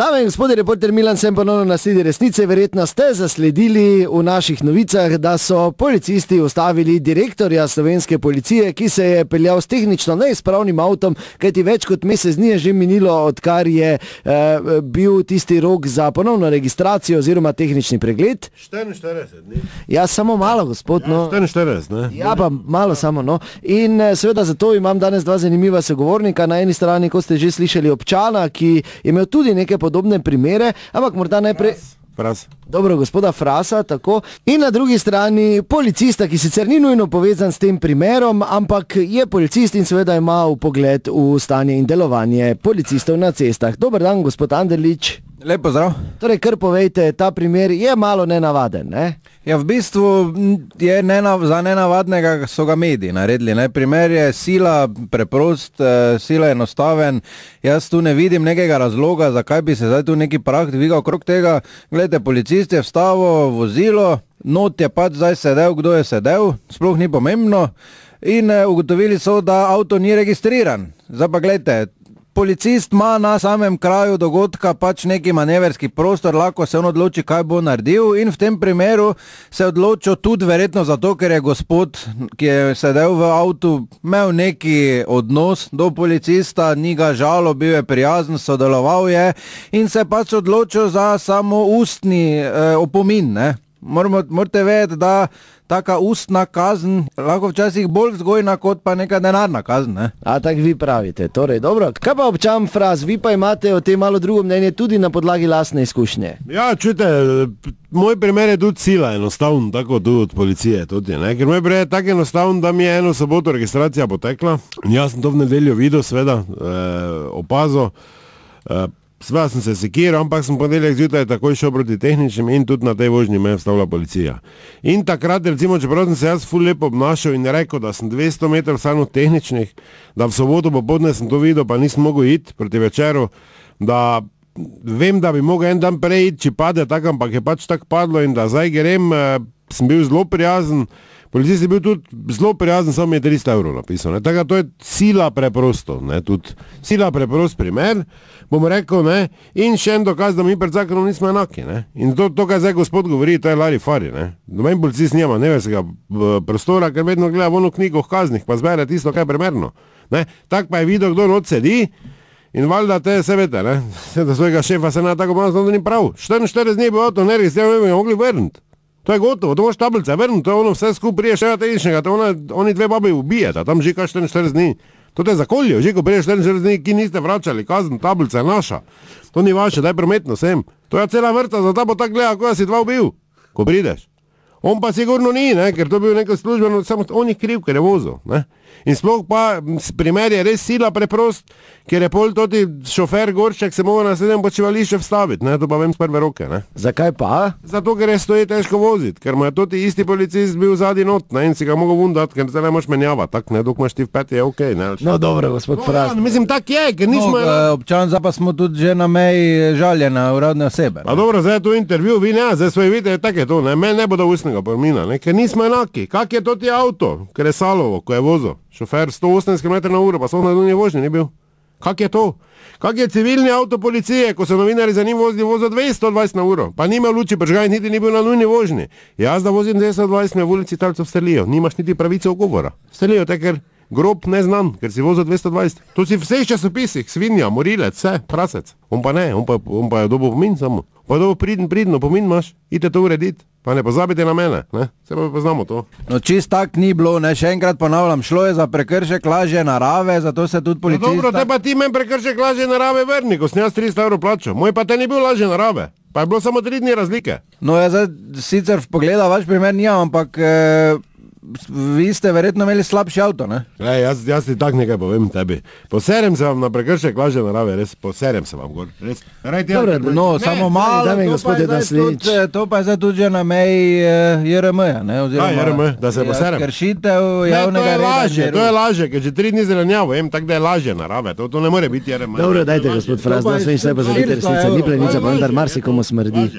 Dame in gospodje, reporter Milan sem ponovno na sledi resnice. Verjetno ste zasledili v naših novicah, da so policisti ustavili direktorja slovenske policije, ki se je peljal s tehnično neizpravnim avtom, kajti več kot mesec dni je že minilo, odkar je bil tisti rok za ponovno registracijo oziroma tehnični pregled. 44 dni. Ja, samo malo, gospod. Ja, 44, ne? Ja, pa malo samo, no. In seveda zato imam danes dva zanimiva sogovornika. Na eni strani, ko ste že slišali, občana, ki je imel tudi neke podobne primere, ampak morda najprej... Fras. Dobro, gospoda Frasa, tako. In na drugi strani policista, ki sicer ni nujno povezan s tem primerom, ampak je policist in seveda ima vpogled v stanje in delovanje policistov na cestah. Dober dan, gospod Anderlič. Lep pozdrav. Torej, kar povejte, ta primer je malo nenavaden, ne? Ja, v bistvu je za nenavadnega so ga mediji naredili. Ne? Primer je sila preprost, sila enostaven. Jaz tu ne vidim nekega razloga, zakaj bi se zdaj tu neki prah dvigal okrog tega. Glejte, policist je vstavil vozilo, not je pač zdaj sedel, kdo je sedel, sploh ni pomembno. In ugotovili so, da avto ni registriran. Zdaj pa glejte, policist ima na samem kraju dogodka pač neki manevrski prostor, lahko se on odloči, kaj bo naredil, in v tem primeru se odločil tudi verjetno zato, ker je gospod, ki je sedel v avtu, imel neki odnos do policista, ni ga žalo, bil je prijazen, sodeloval je in se pač odločil za samo ustni opomin, ne. Morate vedeti, da taka ustna kazen lahko včasih bolj vzgojna kot pa neka denarna kazen, ne? A tak vi pravite, torej dobro. Kaj pa občan Fras, vi pa imate o tem malo drugo mnenje tudi na podlagi lastne izkušnje? Ja, čujte, moj primer je tudi sila enostavno, tako tudi od policije tudi, ne? Ker moj primer je tako enostavno, da mi je eno soboto registracija potekla. Jaz sem to v nedeljo videl, seveda, opazil. Sveda sem se sekiral, ampak sem ponedeljek zjutraj takoj šel proti tehničnim in tudi na tej vožnji me je vstavila policija. In takrat, recimo, čeprav sem se jaz ful lepo obnašal in rekel, da sem 200 metrov samo tehničnih, da v soboto popoldne sem to videl, pa nisem mogel iti proti večeru, da vem, da bi mogel en dan prej iti, če pade tako, ampak je pač tako padlo in da zdaj grem, sem bil zelo prijazen. Policist je bil tudi zelo prijazen, samo mi je 300 evrov napisal. Tako to je sila preprosto, ne, tudi sila preprost primer, bom rekel, ne, in še en dokaz, da mi pred zakonom nismo enaki, ne. In to, kaj zdaj gospod govori, to je larifari, ne. Noben policist nima neverskega prostora, ker vedno gleda v ono knjigo v kaznih, pa zbere tisto, kaj je primerno, ne. Tak pa je videl, kdo not sedi in valjda te se vete, ne, da svojega šefa se na tako pomazno, da ni prav. 44 dni bo avto neregistriral, ne bi ga mogli vrniti. To je gotovo, to moš tablice vrniti, to je ono vse skup prije še tehničnega, to oni dve babi ubijeta, tam že kaj 44 dni. To te zakoljijo, že ko prije 44 dni, ki niste vračali, kazen, tablica je naša. To ni vaše, daj prometno sem. To je cela vrsta, zato bo tako gleda, ko si dva ubil, ko prideš. On pa sigurno ni, ne, ker to bil neko službeno, samo on je kriv, ker je vozil, ne. In sploh pa primer je res sila preprost, ker je pol toti šofer Goršek se mogel na sedem počivališče vstaviti, ne, to pa vem z prve roke, ne. Zakaj pa? Zato, ker je stoji težko voziti, ker mu je toti isti policist bil zadnji not, ne, in si ga mogel vundati, ker se ne moš menjavati, tak, ne, dok imaš ti v peti, je okej, ne. No, dobro, gospod Fras. Ja, mislim, tak je, ker nismo... Občan, zdaj pa smo tudi že na meji žaljena uradne osebe. A dobro, zdaj je to intervju, vi ne, zdaj svoje vidite, tako je to, ne, meni ne bodo ustnega pomina, ne, ker nismo enaki. Kak je toti avto, ker je Salovo, ko je vozil? Šofer 180 km/h, pa so na nujni vožnji ni bil. Kak je to? Kak je civilni avto policije, ko so novinari za njim vozili, vozil 220 na uro, pa nima luči pržgaj, niti ni bil na nujni vožnji. Jaz da vozim 220, me v ulici talcev strelijo, nimaš niti pravice ogovora. Strelijo te, ker grob ne znam, ker si vozil 220. To si v vseh časopisih, svinja, morilec, vse, prasec. On pa ne, on pa je dobil pomin samo. Pa je dobil pridno, pomin imaš, idite to urediti. Pa ne pozabite na mene, ne? Se pa poznamo to. No čist tak ni bilo, ne, še enkrat ponavljam, šlo je za prekršek lažje narave, zato se tudi policista... No dobro, te pa ti men prekršek lažje narave vrni, ko sem jaz 300 evrov plačal. Moj pa te ni bil lažje narave, pa je bilo samo 3 dni razlike. No ja, zdaj sicer pogleda vaš primer nijam, ampak vi ste verjetno imeli slabši avto, ne? Jaz ti tak nekaj povem tebi. Poserem se vam na prekršek lažje narave, res, poserem se vam gor, res. Dobro, no, samo malo, to pa je zdaj tudi že na meji JRM-ja, ne? JRM, da se poserem. Kršitev javnega reda. To je lažje, ker že 3 dni zelenjavo, tako da je lažje narave, to ne more biti JRM. Dobro, dajte, gospod Fras, da sve in sve pa zavite resnica, ni plenica, pa vendar marsikomu smrdi.